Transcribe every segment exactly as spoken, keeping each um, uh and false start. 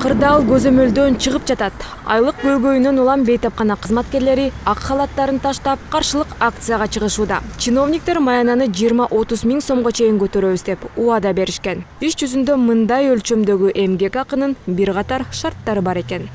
Кырдаал көзөмөлдөн чыгып жатат. Айлык бөлгөйүнөн улам бейтапкана кызматкерлери ак халаттарын таштап каршылык акцияга чыгышууда. Чиновниктер маянаны жыйырма отуз миң сомго чейин көтөрөбүз деп убада беришкен. Иш жүзүндө мындай өлчөмдөгү эмгек акынын бир катар шарттары бар экен.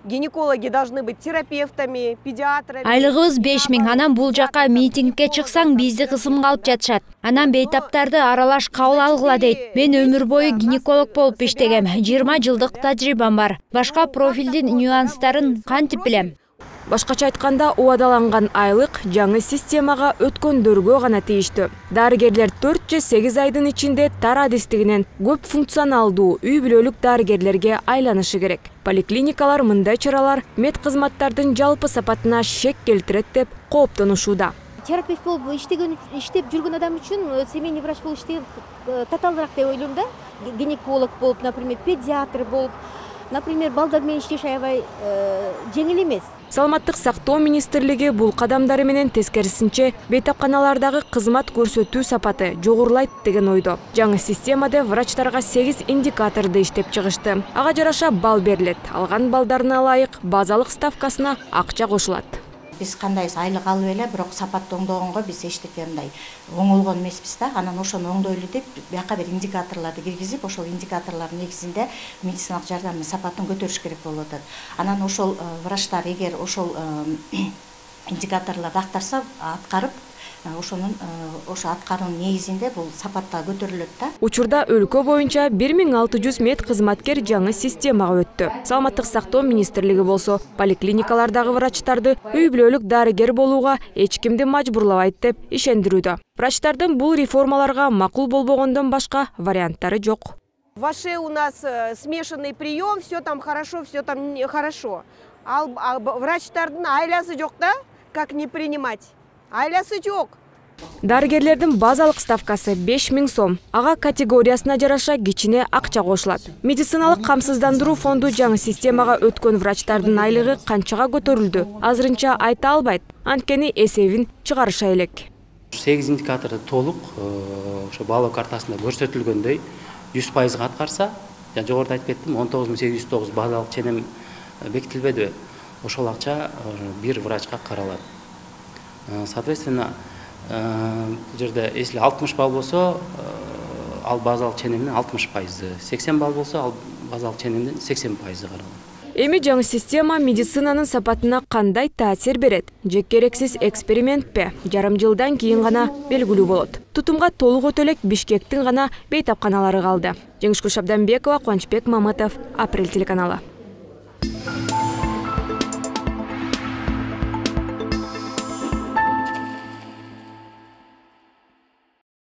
Гинекологи должны быть терапевтами, педиатрами. Айлыгыбыз беш миң, анан бул жака митингке чыксаң бизди кысымга алып жатышат. Анан бейтаптарды аралаш кабыл алгыла дейт. Мен өмүр бою гинеколог болуп иштегем. жыйырма жылдык тажрыйбам бар. Башка профилдин нюанстарын кантип билем? Башкача айтканда, убадаланган айлык жаңы системага өткөндөргө гана тийиштүү. Дарыгерлер төрт же сегиз айдын ичинде тар адистигинен көп функционалдуу үй бүлөлүк дарыгерлерге айланышы керек. Поликлиникалар мындай чаралар мед кызматтардын жалпы сапатына шек келтирет деп кооптонушууда. Терапевт болуп иштеген иштеп жүргөн адам үчүн семейный врач болуп иштеген татаалыраак деп ойлойм да. Гинеколог болуп, например, педиатр болуп, например, балдар менен иштеш аябай жеңил эмес. Саламаттык сактоо министрлиги бул кадамдары менен тескерисинче бейтапканалардагы кызмат көрсөтүү сапаты жогорулайт деген ойдо. Жаңы системада врачтарга сегиз индикаторду иштеп чыгышты. Ага жараша балл берилет. Алган балдарына ылайык базалык ставкасына акча кошулат. Биз кандай айлык алып эле, бирок сапатты оңдогонго биз эчтеке мындай оңолгон эмеспиз да. Анан ошону оңдойлу деп бияка бир индикаторлорду киргизип, ошол индикаторлордун негизинде медициналык жардамдын сапатын көтөрүш керек болуп атат. Анан ошол врачтар эгер ошол индикаторлорду актарса, аткарып, ошонун ошо аткаруунун негизинде бул сапатта көтөрүлөт да. Учурда өлкө боюнча бир миң алты жүз мед кызматкер жаңы системага өттү. Саламаттык сактоо министрлиги болсо поликлиникалардагы врачтарды үй бүлөлүк дарыгер болууга эч кимди мажбурлабайт деп ишендирүүдө. Врачтардын бул реформаларга макул болбогондон башка варианттары жок. Ваше у нас смешанный прием, все там хорошо, все там хорошо. Ал врачтардын айласы жок да, как не принимать? Айласы жок. Дарыгерлердин базалык ставкасы беш миң сом. Ага категориясына жараша кичине акча кошулат. Медициналык камсыздандыруу фонду жаңы системага өткөн врачтардын айлыгы канчага көтөрүлдү? Азырынча айта албайт. Анткени эсебин чыгарыша элек. сегиз индикаторду толук ошо баалоо картасында көрсөтүлгөндөй жүз пайызга аткарса, жана жогоруда айтып кеттим, он тогуз миң сегиз жүз тогуз базалык ченем бекитилбедиби? Ошол акча бир врачка каралат. Соответственно, бул жерде если алтымыш балл болсо, ал базалык ченемдин алтымыш пайызы, сексен балл болсо, ал базалык ченемдин сексен пайызы каралат. Эми жаңы система медицинанын сапатына кандай таасир берет? Же керексиз экспериментпи? Жарым жылдан кийин гана белгилүү болот. Тутумга толук өтө элек Бишкектин гана бейтапканалары калды. Жеңишгүл Шабданбекова, Кубанычбек Мамытов, Апрель телеканалы.